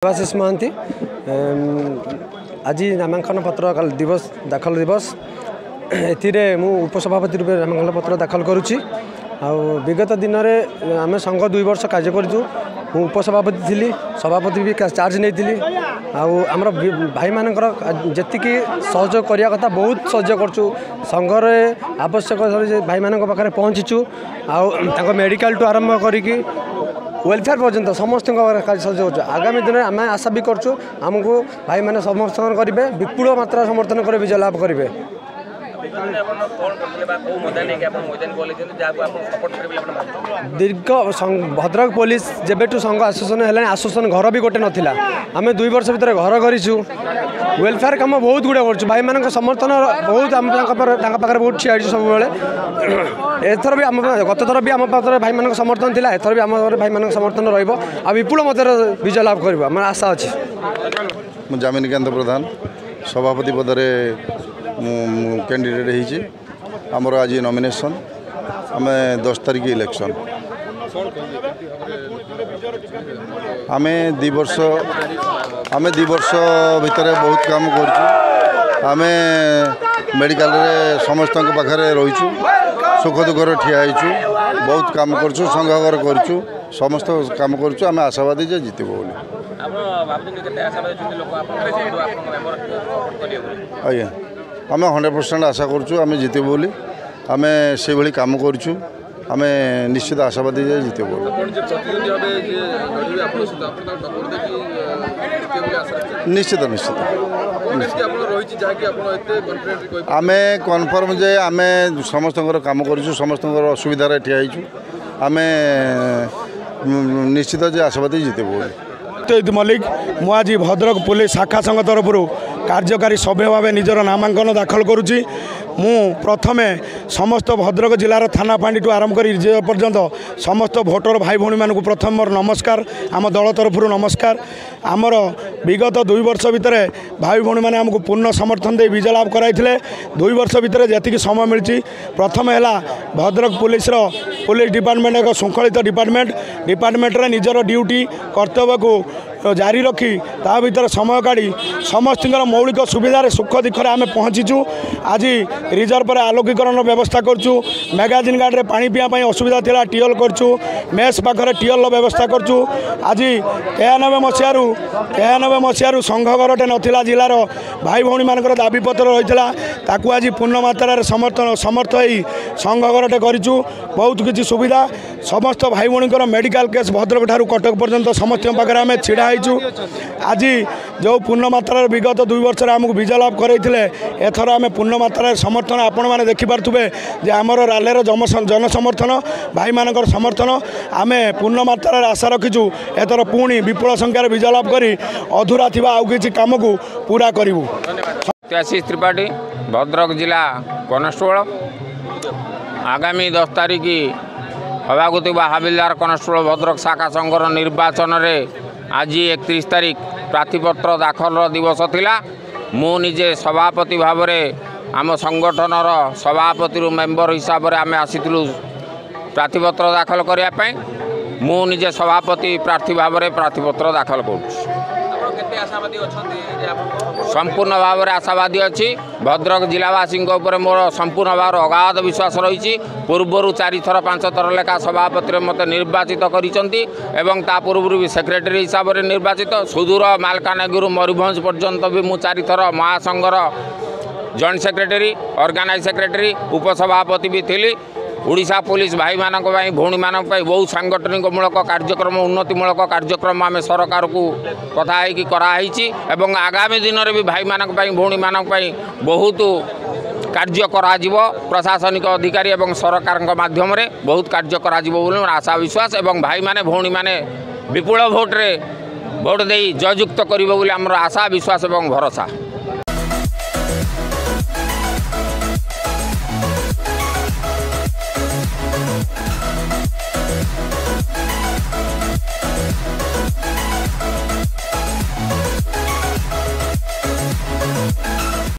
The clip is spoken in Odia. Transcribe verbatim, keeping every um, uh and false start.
ଦେବାଶିଷ ମହାନ୍ତି। ଆଜି ନାମାଙ୍କନ ପତ୍ର ଦିବସ ଦାଖଲ ଦିବସ। ଏଥିରେ ମୁଁ ଉପସଭାପତି ରୂପେ ନାମାଙ୍କନ ପତ୍ର ଦାଖଲ କରୁଛି। ଆଉ ବିଗତ ଦିନରେ ଆମେ ସଂଘ ଦୁଇ ବର୍ଷ କାର୍ଯ୍ୟ କରିଛୁ। ମୁଁ ଉପସଭାପତି ଥିଲି, ସଭାପତି ବି ଚାର୍ଜ ନେଇଥିଲି। ଆଉ ଆମର ଭାଇମାନଙ୍କର ଯେତିକି ସହଯୋଗ କରିବା କଥା, ବହୁତ ସହଯୋଗ କରୁଛୁ। ସଂଘରେ ଆବଶ୍ୟକ ଭାଇମାନଙ୍କ ପାଖରେ ପହଞ୍ଚିଛୁ। ଆଉ ତାଙ୍କ ମେଡ଼ିକାଲଠୁ ଆରମ୍ଭ କରିକି ୱେଲଫେୟାର ପର୍ଯ୍ୟନ୍ତ ସମସ୍ତଙ୍କ ସହଯୋଗ କରୁଛୁ। ଆଗାମୀ ଦିନରେ ଆମେ ଆଶା ବି କରୁଛୁ, ଆମକୁ ଭାଇମାନେ ସମର୍ଥନ କରିବେ, ବିପୁଳ ମାତ୍ରାରେ ସମର୍ଥନ କରି ବିଜୟ ଲାଭ କରିବେ। ଦୀର୍ଘ ଭଦ୍ରକ ପୋଲିସ ଯେବେଠୁ ସଂଘ ଆସୋସିଏସନ୍ ହେଲାଣି, ଆସୋସିଏସନ୍ ଘର ବି ଗୋଟେ ନଥିଲା। ଆମେ ଦୁଇ ବର୍ଷ ଭିତରେ ଘର କରିଛୁ। ୱେଲଫେୟାର କାମ ବହୁତ ଗୁଡ଼ିଏ କରୁଛୁ। ଭାଇମାନଙ୍କ ସମର୍ଥନ ବହୁତ, ଆମ ତାଙ୍କ ତାଙ୍କ ପାଖରେ ବହୁତ ଠିଆ ହେଇଛୁ ସବୁବେଳେ। ଏଥର ବି ଆମ, ଗତ ଥର ବି ଆମ ପାଖରେ ଭାଇମାନଙ୍କ ସମର୍ଥନ ଥିଲା, ଏଥର ବି ଆମ ଭାଇମାନଙ୍କ ସମର୍ଥନ ରହିବ ଆଉ ବିପୁଳ ମଧ୍ୟରେ ବିଜୟ ଲାଭ କରିବ, ଆମର ଆଶା ଅଛି। ମୁଁ ଯାମିନୀକାନ୍ତ ପ୍ରଧାନ, ସଭାପତି ପଦରେ ମୁଁ କ୍ୟାଣ୍ଡିଡେଟ୍ ହେଇଛି। ଆମର ଆଜି ନମିନେସନ୍, ଆମେ ଦଶ ତାରିଖ ଇଲେକ୍ସନ୍। ଆମେ ଦୁଇ ବର୍ଷ ଆମେ ଦୁଇ ବର୍ଷ ଭିତରେ ବହୁତ କାମ କରୁଛୁ। ଆମେ ମେଡ଼ିକାଲରେ ସମସ୍ତଙ୍କ ପାଖରେ ରହିଛୁ, ସୁଖ ଦୁଃଖରେ ଠିଆ ହେଇଛୁ, ବହୁତ କାମ କରୁଛୁ, ସଂଘ ଘର କରୁଛୁ, ସମସ୍ତ କାମ କରୁଛୁ। ଆମେ ଆଶାବାଦୀ ଯେ ଜିତିବୁ ବୋଲି। ଆଜ୍ଞା, ଆମେ ହଣ୍ଡ୍ରେଡ଼ ପରସେଣ୍ଟ ଆଶା କରୁଛୁ ଆମେ ଜିତିବୁ ବୋଲି। ଆମେ ସେଇଭଳି କାମ କରୁଛୁ। ଆମେ ନିଶ୍ଚିତ ଆଶାବାଦୀ ଯେ ଜିତିବୁ ବୋଲି। ନିଶ୍ଚିତ ନିଶ୍ଚିତ ଆମେ କନଫର୍ମ ଯେ ଆମେ ସମସ୍ତଙ୍କର କାମ କରୁଛୁ, ସମସ୍ତଙ୍କର ଅସୁବିଧାରେ ଠିଆ ହେଇଛୁ। ଆମେ ନିଶ୍ଚିତ ଯେ ଆଶାବାଦୀ ଜିତିବୁ ବୋଲି। ସତ୍ୟଜିତ ମଲ୍ଲିକ। ମୁଁ ଆଜି ଭଦ୍ରକ ପୋଲିସ ଶାଖା ସଂଘ ତରଫରୁ କାର୍ଯ୍ୟକାରୀ ସଭ୍ୟ ଭାବେ ନିଜର ନାମାଙ୍କନ ଦାଖଲ କରୁଛି। ମୁଁ ପ୍ରଥମେ ସମସ୍ତ ଭଦ୍ରକ ଜିଲ୍ଲାର ଥାନା ଫାଣ୍ଡିଠୁ ଆରମ୍ଭ କରି ରିଜର୍ଭ ପର୍ଯ୍ୟନ୍ତ ସମସ୍ତ ଭୋଟର ଭାଇ ଭଉଣୀମାନଙ୍କୁ ପ୍ରଥମେ ମୋର ନମସ୍କାର, ଆମ ଦଳ ତରଫରୁ ନମସ୍କାର। ଆମର ବିଗତ ଦୁଇ ବର୍ଷ ଭିତରେ ଭାଇ ଭଉଣୀମାନେ ଆମକୁ ପୂର୍ଣ୍ଣ ସମର୍ଥନ ଦେଇ ବିଜୟ ଲାଭ କରାଇଥିଲେ। ଦୁଇ ବର୍ଷ ଭିତରେ ଯେତିକି ସମୟ ମିଳିଛି, ପ୍ରଥମେ ହେଲା ଭଦ୍ରକ ପୋଲିସର ପୋଲିସ ଡିପାର୍ଟମେଣ୍ଟ ଏକ ଶୃଙ୍ଖଳିତ ଡିପାର୍ଟମେଣ୍ଟ। ଡିପାର୍ଟମେଣ୍ଟରେ ନିଜର ଡ୍ୟୁଟି କର୍ତ୍ତବ୍ୟକୁ ଜାରି ରଖି ତା ଭିତରେ ସମୟ କାଢ଼ି ସମସ୍ତଙ୍କର ମୌଳିକ ସୁବିଧାରେ ସୁଖ ଦୁଃଖରେ ଆମେ ପହଞ୍ଚିଛୁ। ଆଜି ରିଜର୍ଭରେ ଆଲୋକୀକରଣର ବ୍ୟବସ୍ଥା କରୁଛୁ। ମ୍ୟାଗାଜିନ୍ ଗାର୍ଡ଼ରେ ପାଣି ପିଇବା ପାଇଁ ଅସୁବିଧା ଥିଲା, ଟିଅଲ କରୁଛୁ। ମେସ୍ ପାଖରେ ଟିଅଲର ବ୍ୟବସ୍ଥା କରୁଛୁ। ଆଜି ତେୟାନବେ ମସିହାରୁ ତେୟାନବେ ମସିହାରୁ ସଂଘ ଘରଟେ ନଥିଲା, ଜିଲ୍ଲାର ଭାଇ ଭଉଣୀମାନଙ୍କର ଦାବିପତ୍ର ରହିଥିଲା। ତାକୁ ଆଜି ପୂର୍ଣ୍ଣ ମାତ୍ରାରେ ସମର୍ଥନ ସମର୍ଥ ହେଇ ସଂଘ ଘରଟେ କରିଛୁ। ବହୁତ କିଛି ସୁବିଧା ସମସ୍ତ ଭାଇ ଭଉଣୀଙ୍କର, ମେଡ଼ିକାଲ କେସ୍ ଭଦ୍ରକ ଠାରୁ କଟକ ପର୍ଯ୍ୟନ୍ତ ସମସ୍ତଙ୍କ ପାଖରେ ଆମେ ଛିଡ଼ା ହେଇଛୁ। ଆଜି ଯେଉଁ ପୂର୍ଣ୍ଣ ମାତ୍ରାରେ ବିଗତ ଦୁଇ ବର୍ଷରେ ଆମକୁ ବିଜୟ ଲାଭ କରାଇଥିଲେ, ଏଥର ଆମେ ପୂର୍ଣ୍ଣ ମାତ୍ରାରେ ସମର୍ଥନ ଆପଣମାନେ ଦେଖିପାରୁଥିବେ ଯେ ଆମର ରାଲିର ଜନସମର୍ଥନ, ଭାଇମାନଙ୍କର ସମର୍ଥନ। ଆମେ ପୂର୍ଣ୍ଣ ମାତ୍ରାରେ ଆଶା ରଖିଛୁ ଏଥର ପୁଣି ବିପୁଳ ସଂଖ୍ୟାରେ ବିଜୟ ଲାଭ କରି ଅଧୁରା ଥିବା ଆଉ କିଛି କାମକୁ ପୁରା କରିବୁ। ଆଶିଷ ତ୍ରିପାଠୀ, ଭଦ୍ରକ ଜିଲ୍ଲା କନେଷ୍ଟବଳ। ଆଗାମୀ ଦଶ ତାରିଖ ହେବାକୁ ଥିବା ହାବିଲଦାର କନେଷ୍ଟବଳ ଭଦ୍ରକ ଶାଖା ସଂଘର ନିର୍ବାଚନରେ ଆଜି ଏକତିରିଶ ତାରିଖ ପ୍ରାର୍ଥୀପତ୍ର ଦାଖଲର ଦିବସ ଥିଲା। ମୁଁ ନିଜେ ସଭାପତି ଭାବରେ, ଆମ ସଂଗଠନର ସଭାପତିରୁ ମେମ୍ବର ହିସାବରେ ଆମେ ଆସିଥିଲୁ ପ୍ରାର୍ଥୀପତ୍ର ଦାଖଲ କରିବା ପାଇଁ। ମୁଁ ନିଜେ ସଭାପତି ପ୍ରାର୍ଥୀ ଭାବରେ ପ୍ରାର୍ଥୀପତ୍ର ଦାଖଲ କରୁଛି। ସମ୍ପୂର୍ଣ୍ଣ ଭାବରେ ଆଶାବାଦୀ ଅଛି। ଭଦ୍ରକ ଜିଲ୍ଲାବାସୀଙ୍କ ଉପରେ ମୋର ସମ୍ପୂର୍ଣ୍ଣ ଭାବରେ ଅଗାଧ ବିଶ୍ୱାସ ରହିଛି। ପୂର୍ବରୁ ଚାରିଥର ପାଞ୍ଚ ଥର ଲେଖା ସଭାପତିରେ ମୋତେ ନିର୍ବାଚିତ କରିଛନ୍ତି ଏବଂ ତା ପୂର୍ବରୁ ବି ସେକ୍ରେଟାରୀ ହିସାବରେ ନିର୍ବାଚିତ। ସୁଦୂର ମାଲକାନଗିରିରୁ ମୟୂରଭଞ୍ଜ ପର୍ଯ୍ୟନ୍ତ ବି ମୁଁ ଚାରିଥର ମହାସଂଘର ଜଏଣ୍ଟ ସେକ୍ରେଟାରୀ, ଅର୍ଗାନାଇଜ ସେକ୍ରେଟାରୀ, ଉପସଭାପତି ବି ଥିଲି। ଓଡ଼ିଶା ପୋଲିସ ଭାଇମାନଙ୍କ ପାଇଁ, ଭଉଣୀମାନଙ୍କ ପାଇଁ ବହୁତ ସାଙ୍ଗଠନିକମୂଳକ କାର୍ଯ୍ୟକ୍ରମ, ଉନ୍ନତିମୂଳକ କାର୍ଯ୍ୟକ୍ରମ ଆମେ ସରକାରକୁ କଥା ହେଇକି କରାହେଇଛି ଏବଂ ଆଗାମୀ ଦିନରେ ବି ଭାଇମାନଙ୍କ ପାଇଁ, ଭଉଣୀମାନଙ୍କ ପାଇଁ ବହୁତ କାର୍ଯ୍ୟ କରାଯିବ। ପ୍ରଶାସନିକ ଅଧିକାରୀ ଏବଂ ସରକାରଙ୍କ ମାଧ୍ୟମରେ ବହୁତ କାର୍ଯ୍ୟ କରାଯିବ ବୋଲି ମୋର ଆଶା ବିଶ୍ୱାସ ଏବଂ ଭାଇମାନେ ଭଉଣୀମାନେ ବିପୁଳ ଭୋଟରେ ଭୋଟ ଦେଇ ଜୟଯୁକ୍ତ କରିବ ବୋଲି ଆମର ଆଶା, ବିଶ୍ୱାସ ଏବଂ ଭରସା।